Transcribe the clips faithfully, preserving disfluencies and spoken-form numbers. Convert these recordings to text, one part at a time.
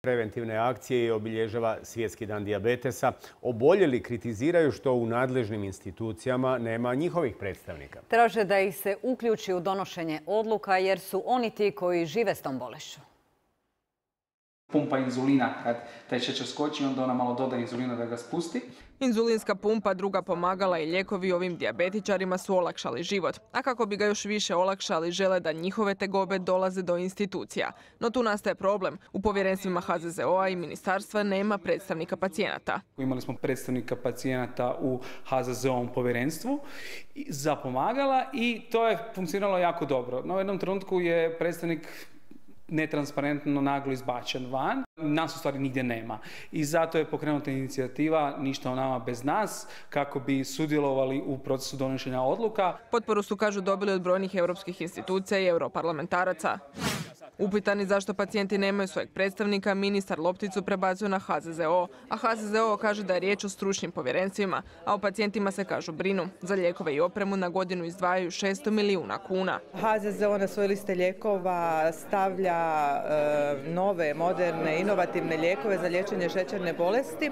preventivne akcije i obilježava Svjetski dan dijabetesa. Oboljeli kritiziraju što u nadležnim institucijama nema njihovih predstavnika. Traže da ih se uključi u donošenje odluka jer su oni ti koji žive s tom bolešću. Pumpa inzulina, kad taj šećer skoči, onda ona malo doda inzulina da ga spusti. Inzulinska pumpa, druga pomagala i lijekovi ovim dijabetičarima su olakšali život. A kako bi ga još više olakšali, žele da njihove tegobe dolaze do institucija. No tu nastaje problem. U povjerenstvima H Z Z O-a i ministarstva nema predstavnika pacijenata. Imali smo predstavnika pacijenata u H Z Z O-ovom povjerenstvu za pomagala i to je funkcioniralo jako dobro. No u jednom trenutku je predstavnik netransparentno naglo izbačen van. Nas u stvari nigdje nema. I zato je pokrenuta inicijativa Ništa o nama bez nas, kako bi sudjelovali u procesu donošenja odluka. Potporu su, kažu, dobili od brojnih europskih institucija i europarlamentaraca. Upitani zašto pacijenti nemaju svojeg predstavnika, ministar lopticu prebacuje na H Z Z O, a H Z Z O kaže da je riječ o stručnim povjerenstvima, a o pacijentima se, kažu, brinu. Za lijekove i opremu na godinu izdvajaju šesto milijuna kuna. H Z Z O na svoje liste lijekova stavlja e, nove, moderne, inovativne lijekove za liječenje šećerne bolesti,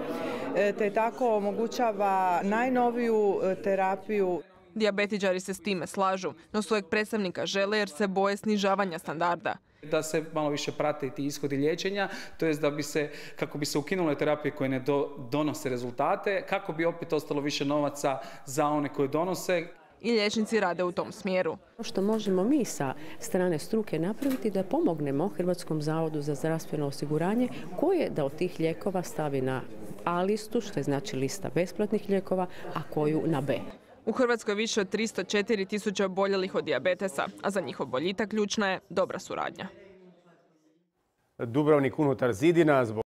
e, te tako omogućava najnoviju terapiju. Dijabetičari se s time slažu, no svojeg predstavnika žele jer se boje snižavanja standarda. Da se malo više prate ti ishodi liječenja, to jest da bi se, kako bi se ukinule terapije koje ne do, donose rezultate, kako bi opet ostalo više novaca za one koje donose. I liječnici rade u tom smjeru. Što možemo mi sa strane struke napraviti da pomognemo Hrvatskom zavodu za zdravstveno osiguranje koje da od tih lijekova stavi na A listu, što je znači lista besplatnih lijekova, a koju na B. U Hrvatskoj je više od tristo četiri tisuće oboljelih od dijabetesa, a za njihov boljitak ključna je dobra suradnja. Dubrovnik unutar zidina zbog